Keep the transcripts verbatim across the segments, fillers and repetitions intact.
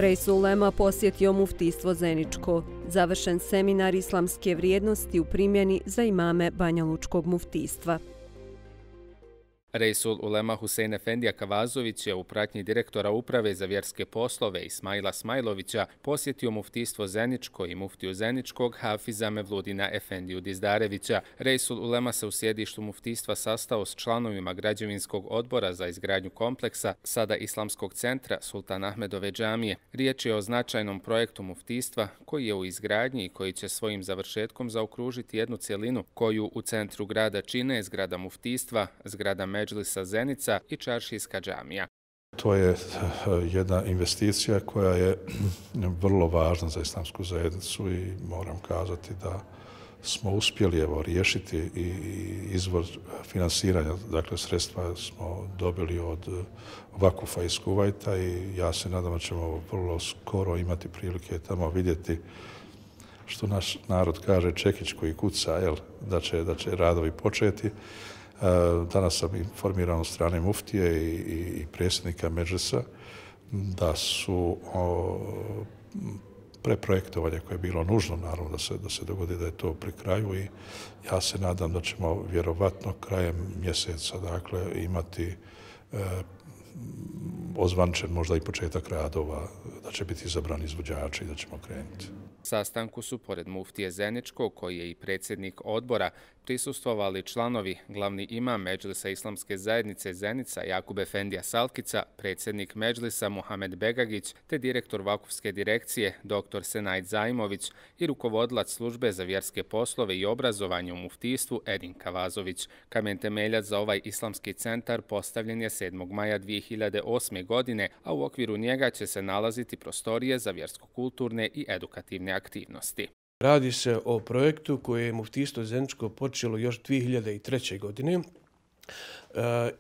Reisul Ulema posjetio muftijstvo Zeničko. Završen seminar islamske vrijednosti u primjeni za imame Banjalučkog muftijstva. Reisul Ulema Husein Efendija Kavazović je u pratnji direktora Uprave za vjerske poslove Ismaila Smajlovića posjetio muftijstvo Zeničko i muftiju Zeničkog Hafiza Mevludina Efendiju Dizdarevića. Reisul Ulema se u sjedištu muftijstva sastao s članovima građevinskog odbora za izgradnju kompleksa, sada Islamskog centra Sultan Ahmedove džamije. Riječ je o značajnom projektu muftijstva koji je u izgradnji i koji će svojim završetkom zaokružiti jednu cjelinu koju u centru grada čine zgrada muftijstva, zgrada Medžlisa Zenica i čaršijska džamija. To je jedna investicija koja je vrlo važna za islamsku zajednicu i moram kazati da smo uspjeli evo, riješiti i izvor finansiranja. Dakle, sredstva smo dobili od Vakufa iz Kuvajta i ja se nadam da ćemo vrlo skoro imati prilike tamo vidjeti što naš narod kaže čekić koji kuca, jel, da će, da će radovi početi. Danas sam informiran od strane muftije i, i, i predsjednika Medžlisa da su o, preprojektovanje koje je bilo nužno, naravno da se, da se dogodi da je to pri kraju i ja se nadam da ćemo vjerovatno krajem mjeseca dakle, imati e, ozvančen možda i početak radova, da će biti izabrani izvođači i da ćemo krenuti. Sastanku su, pored muftije Zeničkog, koji je i predsjednik odbora, prisustvovali članovi, glavni imam Medžlisa Islamske zajednice Zenica Jakub Efendija Salkica, predsjednik Medžlisa Muhamed Begagić, te direktor Vakufske direkcije dr. Senajd Zaimović i rukovodilac službe za vjerske poslove i obrazovanje u muftijstvu Edin Kavazović. Kamen temeljac za ovaj islamski centar postavljen je sedmog maja dvije hiljade osme. godine, a u okviru njega će se nalaziti prostorije za vjersko-kulturne i edukativne aktivnosti. Radi se o projektu koje je muftijstvo Zeničko počelo još dvije hiljade treće. godine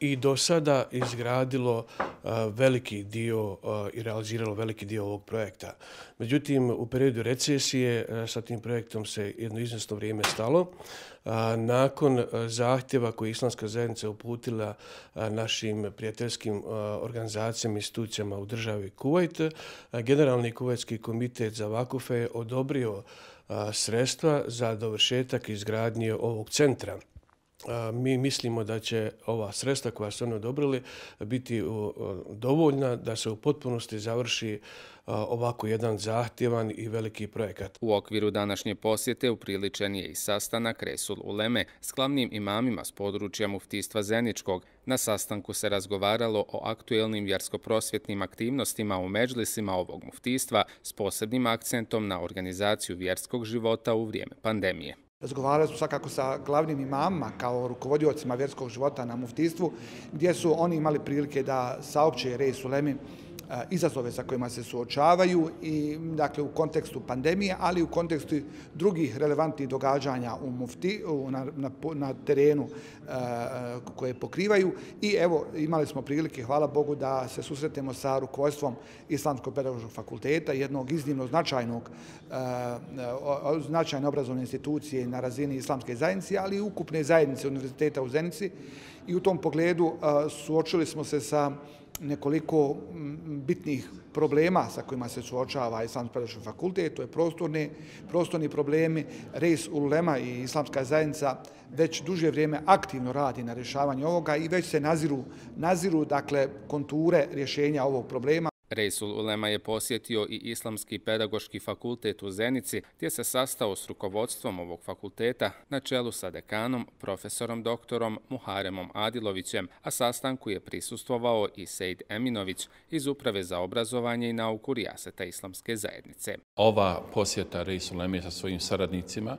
i do sada izgradilo veliki dio i realiziralo veliki dio ovog projekta. Međutim, u periodu recesije sa tim projektom se jedno izvjesno vrijeme stalo. Nakon zahtjeva koje je Islamska zajednica uputila našim prijateljskim organizacijama i institucijama u državi Kuvajt, Generalni kuvajtski komitet za vakufe je odobrio sredstva za dovršetak izgradnje ovog centra. Mi mislimo da će ova sredstva koja su oni odobrili biti dovoljna da se u potpunosti završi ovako jedan zahtjevan i veliki projekat. U okviru današnje posjete upriličen je i sastanak Reisul Uleme s glavnim imamima s područja muftijstva Zeničkog. Na sastanku se razgovaralo o aktuelnim vjersko-prosvjetnim aktivnostima u medžlisima ovog muftijstva s posebnim akcentom na organizaciju vjerskog života u vrijeme pandemije. Razgovarali smo svakako sa glavnim imamima kao rukovodiocima vjerskog života na muftijstvu, gdje su oni imali prilike da saopće Reisul Ulemi izazove sa kojima se suočavaju i dakle u kontekstu pandemije, ali i u kontekstu drugih relevantnih događanja u mufti, na, na, na terenu uh, koje pokrivaju. I evo imali smo prilike, hvala Bogu, da se susretemo sa rukovodstvom Islamskog pedagoškog fakulteta, jednog iznimno značajnog uh, značajne obrazovne institucije na razini Islamske zajednice, ali i ukupne zajednice univerziteta u Zenici. I u tom pogledu uh, suočili smo se sa nekoliko bitnih problema sa kojima se suočava Islamski pedagoški fakultet, to je prostorni, prostorni problemi. Reisul Ulema i Islamska zajednica već duže vrijeme aktivno radi na rješavanju ovoga i već se naziru, naziru dakle, konture rješenja ovog problema. Reisul Ulema je posjetio i Islamski pedagoški fakultet u Zenici, gdje se sastao s rukovodstvom ovog fakulteta na čelu sa dekanom, profesorom doktorom Muharemom Adilovićem, a sastanku je prisustvovao i Sejd Eminović iz Uprave za obrazovanje i nauku Rijaseta Islamske zajednice. Ova posjeta Reisul Uleme sa svojim saradnicima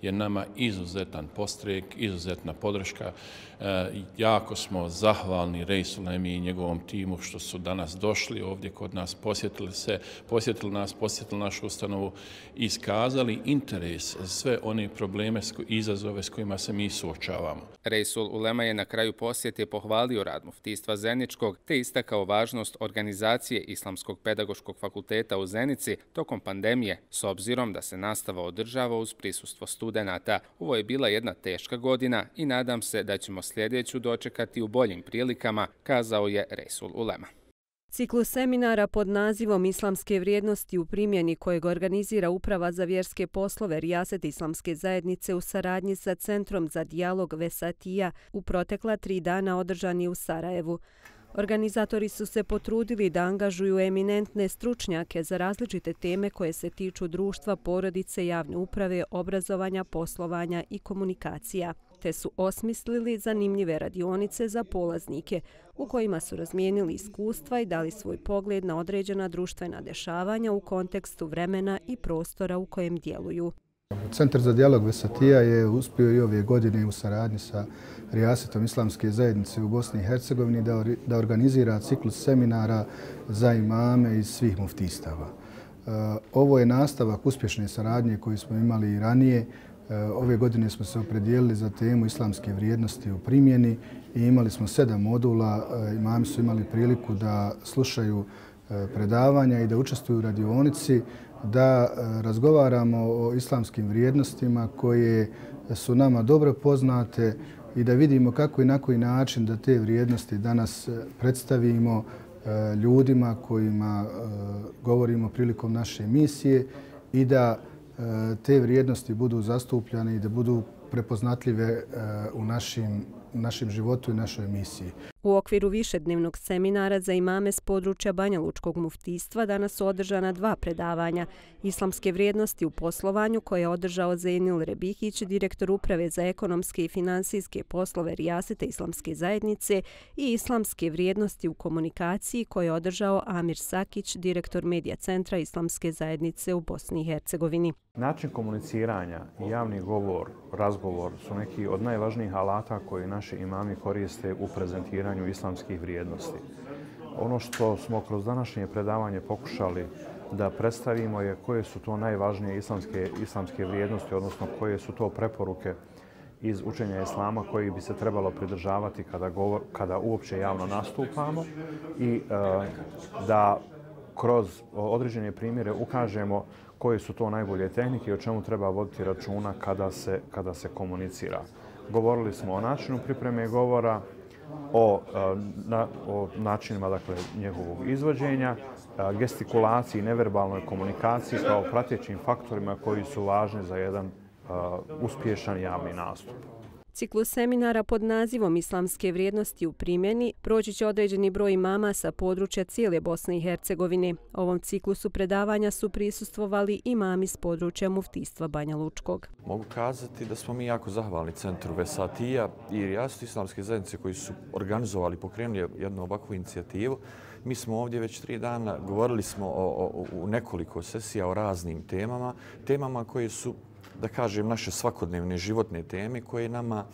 je nama izuzetan postrek, izuzetna podrška. E, jako smo zahvalni Reisul Ulemi i njegovom timu što su danas došli ovdje kod nas, posjetili se, posjetili nas, posjetili našu ustanovu i iskazali interes za sve one probleme i izazove s kojima se mi suočavamo. Reisul Ulema je na kraju posjete pohvalio rad muftijstva Zeničkog te istakao važnost organizacije Islamskog pedagoškog fakulteta u Zenici tokom pandemije, s obzirom da se nastava održava uz prisustvo studenata. Ovo je bila jedna teška godina i nadam se da ćemo sljedeću dočekati u boljim prilikama, kazao je Reisul Ulema. Ciklus seminara pod nazivom Islamske vrijednosti u primjeni kojeg organizira Uprava za vjerske poslove Rijaset Islamske zajednice u saradnji sa Centrom za dijalog Vesatija u protekla tri dana održan je u Sarajevu. Organizatori su se potrudili da angažuju eminentne stručnjake za različite teme koje se tiču društva, porodice, javne uprave, obrazovanja, poslovanja i komunikacija, te su osmislili zanimljive radionice za polaznike u kojima su razmijenili iskustva i dali svoj pogled na određena društvena dešavanja u kontekstu vremena i prostora u kojem djeluju. Centar za dijalog Vesatija je uspio i ove godine u saradnji sa Rijasetom Islamske zajednice u Bosni i Hercegovini da organizira ciklus seminara za imame iz svih muftistava. Ovo je nastavak uspješne saradnje koju smo imali i ranije. Ove godine smo se opredijelili za temu islamske vrijednosti u primjeni i imali smo sedam modula. Imami su imali priliku da slušaju predavanja i da učestvuju u radionici, da razgovaramo o islamskim vrijednostima koje su nama dobro poznate i da vidimo kako i na koji način da te vrijednosti danas predstavimo ljudima kojima govorimo prilikom naše misije i da te vrijednosti budu zastupljene i da budu prepoznatljive u našim, našem životu i našoj misiji. U okviru višednevnog seminara za imame s područja Banjalučkog muftistva danas su održana dva predavanja. Islamske vrijednosti u poslovanju koje je održao Zejnil Rebihić, direktor Uprave za ekonomske i finansijske poslove Rijasete Islamske zajednice, i islamske vrijednosti u komunikaciji koje je održao Amir Sakić, direktor Medija centra Islamske zajednice u Bosni i Hercegovini. Način komuniciranja i javni govor, razgovor su neki od najvažnijih alata koje naši imami koriste u prezentiranju islamskih vrijednosti. Ono što smo kroz današnje predavanje pokušali da predstavimo je koje su to najvažnije islamske, islamske vrijednosti, odnosno koje su to preporuke iz učenja islama koji bi se trebalo pridržavati kada, govor, kada uopće javno nastupamo i e, da kroz određene primjere ukažemo koje su to najbolje tehnike i o čemu treba voditi računa kada se, kada se komunicira. Govorili smo o načinu pripreme govora, o, na, o načinima dakle, njegovog izvođenja, gestikulaciji, neverbalnoj komunikaciji kao pratećim faktorima koji su važni za jedan uh, uspješan javni nastup. Ciklus seminara pod nazivom Islamske vrijednosti u primjeni proći će određeni broj imama sa područja cijele Bosne i Hercegovine. Ovom ciklusu predavanja su prisustvovali imami s područja muftistva Banjalučkog. Mogu kazati da smo mi jako zahvalni Centru Vesatija i Rijasetu Islamske zajednice koji su organizovali, pokrenuli jednu ovakvu inicijativu. Mi smo ovdje već tri dana, govorili smo o, o, u nekoliko sesija o raznim temama, temama koje su, da kažem, naše svakodnevne životne teme koje nama,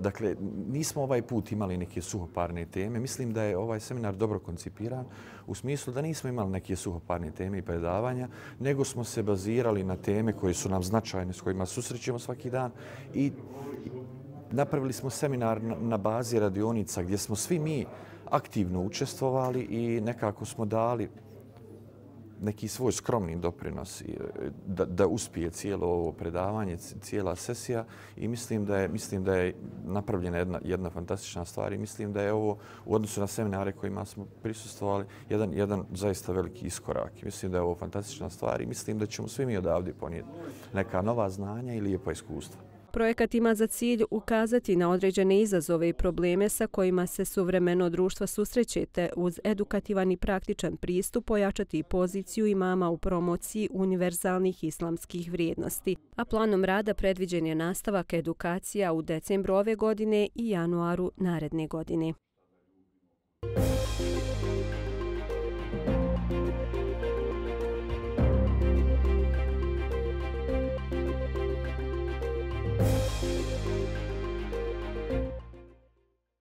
dakle, nismo ovaj put imali neke suhoparne teme. Mislim da je ovaj seminar dobro koncipiran u smislu da nismo imali neke suhoparne teme i predavanja, nego smo se bazirali na teme koje su nam značajne, s kojima susrećemo svaki dan i napravili smo seminar na bazi radionica gdje smo svi mi aktivno učestvovali i nekako smo dali neki svoj skromni doprinos da, da uspije cijelo ovo predavanje, cijela sesija i mislim da je, mislim da je napravljena jedna, jedna fantastična stvar i mislim da je ovo u odnosu na seminare kojima smo prisustvovali jedan, jedan zaista veliki iskorak. Mislim da je ovo fantastična stvar i mislim da ćemo svi mi odavde ponijeti neka nova znanja i lijepa iskustva. Projekat ima za cilj ukazati na određene izazove i probleme sa kojima se suvremeno društvo susreće, te uz edukativan i praktičan pristup ojačati poziciju imama u promociji univerzalnih islamskih vrijednosti. A planom rada predviđen je nastavak edukacija u decembru ove godine i januaru naredne godine.